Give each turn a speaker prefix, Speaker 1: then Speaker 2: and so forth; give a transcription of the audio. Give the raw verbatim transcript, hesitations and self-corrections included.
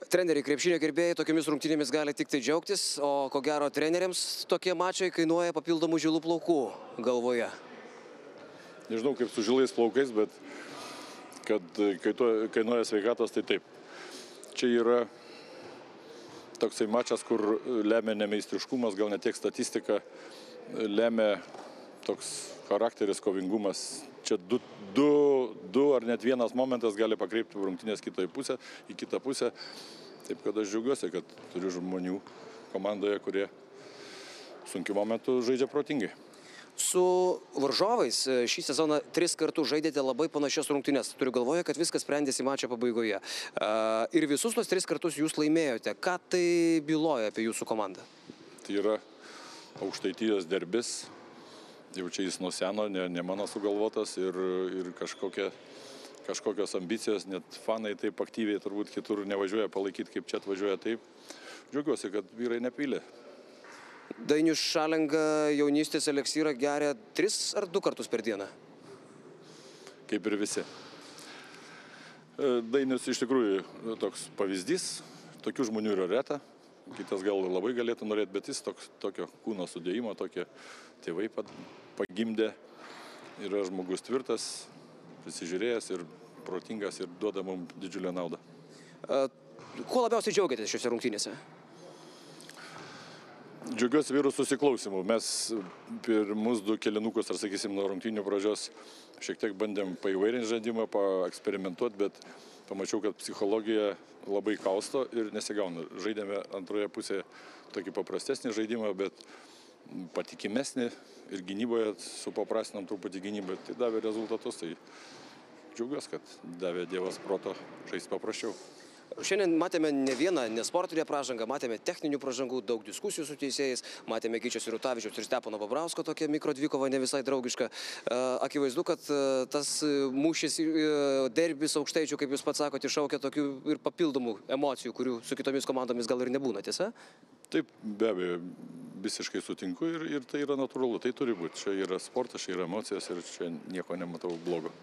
Speaker 1: Treneriai, krepšinio gerbėjai tokiamis rungtynėmis gali tik tai džiaugtis, o ko gero treneriams tokie mačai kainuoja papildomų žilų plaukų galvoje.
Speaker 2: Nežinau kaip su žilais plaukais, bet kad kainuoja sveikatos, tai taip. Čia yra toksai mačas, kur lemia ne meistriškumas, gal ne tiek statistika, lemia toks charakteris, kovingumas. Čia du, du, du ar net vienas momentas gali pakreipti rungtynės kitą pusę, į kitą pusę. Taip kad aš džiaugiuosi, kad turiu žmonių komandoje, kurie sunkiu momentu žaidžia protingai.
Speaker 1: Su varžovais šį sezoną tris kartus žaidėte labai panašias rungtynės. Turiu galvoje, kad viskas sprendėsi mačo pabaigoje. Ir visus tos tris kartus jūs laimėjote. Ką tai byloja apie jūsų komandą?
Speaker 2: Tai yra Aukštaitijos derbis. Jau čia jis nuo seno, ne, ne mano sugalvotas ir, ir kažkokia, kažkokios ambicijos, net fanai taip aktyviai turbūt kitur nevažiuoja palaikyti, kaip čia atvažiuoja taip. Džiaugiuosi, kad vyrai nepylė.
Speaker 1: Dainius Šalenga jaunystės eliksyrą geria tris ar du kartus per dieną?
Speaker 2: Kaip ir visi. Dainius iš tikrųjų toks pavyzdys, tokių žmonių yra reta. Kitas gal labai galėtų norėti, bet jis toks, tokio kūno sudėjimo, tokie tėvai pagimdė. Yra žmogus tvirtas, prisižiūrėjęs ir protingas ir duoda mums didžiulę naudą.
Speaker 1: Kuo labiausiai džiaugiatės šiuose rungtynėse?
Speaker 2: Džiaugiuosi vyrų susiklausimu. Mes pirmus du kelinukus, ar sakysim, nuo rungtynių pradžios šiek tiek bandėm paįvairinti žaidimą, paeksperimentuoti, bet pamačiau, kad psichologija labai kausto ir nesigauna. Žaidėme antroje pusėje tokį paprastesnį žaidimą, bet patikimesnį ir gynyboje supaprastinam truputį gynybą. Tai davė rezultatus, tai džiaugiuosi, kad davė Dievas proto žaisti paprasčiau.
Speaker 1: Šiandien matėme ne vieną nesportinę pražangą, matėme techninių pražangų, daug diskusijų su teisėjais, matėme Gyčio Sirutavičiaus ir Stepono Babrausko tokia mikrodvikova ne visai draugiška. Akivaizdu, kad tas mūšis derbis Aukštaičių, kaip jūs pats sakote, iššaukia tokių ir papildomų emocijų, kurių su kitomis komandomis gal ir nebūna, tiesa?
Speaker 2: Taip, be abejo, visiškai sutinku ir, ir tai yra natūralu, tai turi būti. Čia yra sportas, čia yra emocijos ir čia nieko nematau blogo.